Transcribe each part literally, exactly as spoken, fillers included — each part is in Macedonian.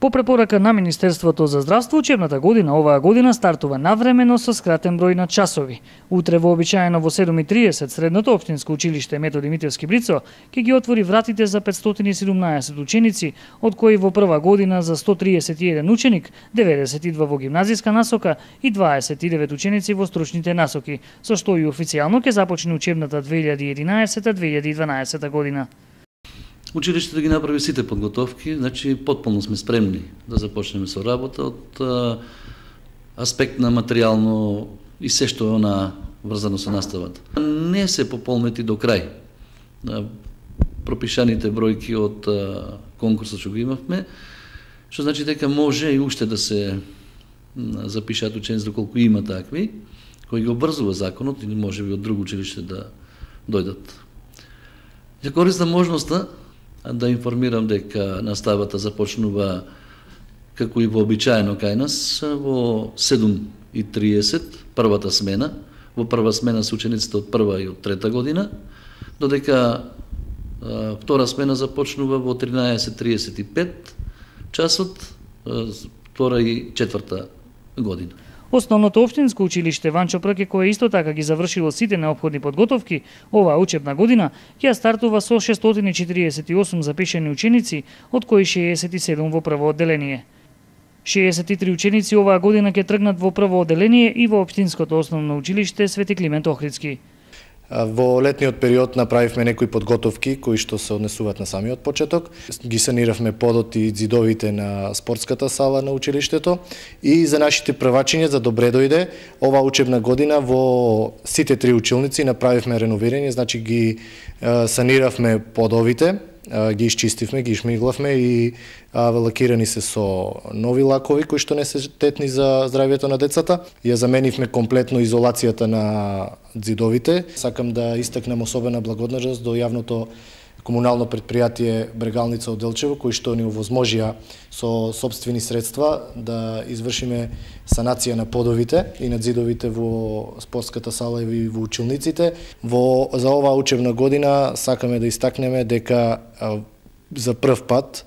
По препорака на Министерството за здравство, учебната година оваа година стартува навремено со скратен број на часови. Утре вообичаено во седум и триесет средното општинско училиште Методи Митевски Брицо ќе ги отвори вратите за петстотини и седумнаесет ученици, од кои во прва година за сто триесет и еден ученик, деветдесет и два во гимназиска насока и дваесет и девет ученици во стручните насоки, со што и официјално ќе започне учебната две илјади и единаесета две илјади и дванаесета година. Училиштето ги направи сите подготовки, значи потполно сме спремни да започнеме со работа од а, аспект на материјално и се што е она врзано со наставата. Не се пополнети до крај пропишаните бројки од а, конкурсот што го имавме, што значи дека може и уште да се запишат ученици доколку има такви, кои ги обврзува законот или може би од друго училиште да дојдат. Ја користам можноста да информирам дека наставата започнува како и вообичаено кај нас во седум и триесет првата смена. Во прва смена се учениците од прва и од трета година, додека а, втора смена започнува во тринаесет и триесет и пет часот, а, втора и четврта година. Основното општинско училиште Ванчо Прке, кое исто така ги завршило сите неопходни подготовки, оваа учебна година ќе стартува со шестстотини и четириесет и осум запишани ученици, од кои шеесет и седум во прво одделение. шеесет и три ученици оваа година ќе тргнат во прво одделение и во општинското основно училиште Свети Климент Охридски. Во летниот период направивме некои подготовки кои што се однесуваат на самиот почеток. Ги саниравме подот и ѕидовите на спортската сала на училиштето и за нашите првачиња за добре дојде оваа учебна година во сите три училници направивме реновирање, значи ги саниравме подовите, ги исчистивме, ги шмиглавме и лакирани се со нови лакови кои што не се тетни за здравјето на децата. Ја заменивме комплетно изолацијата на ѕидовите. Сакам да истакнем особена благодарност до јавното комунално предпријатие Брегалница од Делчево, кои што ни овозможија со сопствени средства да извршиме санација на подовите и на ѕидовите во спортската сала и во училниците. Во за оваа учебна година сакаме да истакнеме дека а, за прв пат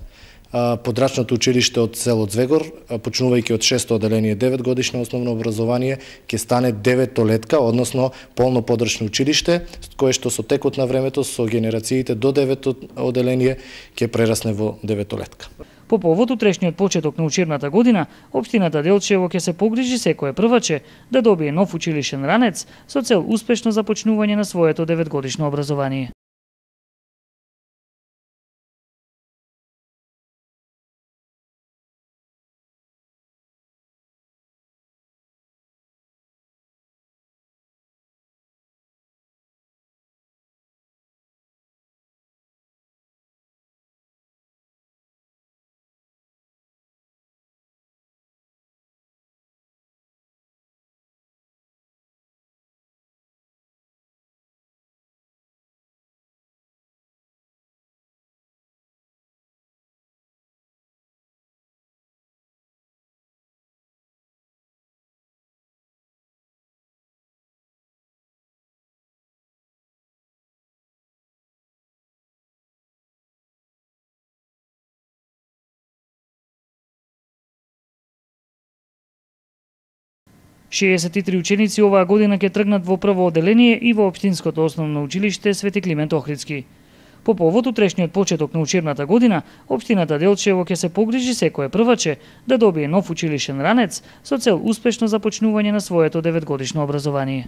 Подрачното училиште од село Звегор, почнувајќи од шесто одделение девет годишно основно образование, ќе стане деветолетка, односно полно подрачно училиште, кое што со текот на времето со генерациите до девето одделение ќе прерасне во деветолетка. По повод утрешниот почеток на учебната година, општината Делчево ќе се погрижи секое прваче да добие нов училишен ранец со цел успешно започнување на своето деветгодишно образование. шеесет и три ученици оваа година ќе тргнат во прво одделение и во општинското основно училиште Свети Климент Охридски. По повод утрешниот почеток на учебната година, општината Делчево ќе се погрижи секое прваче да добие нов училишен ранец со цел успешно започнување на своето деветгодишно образование.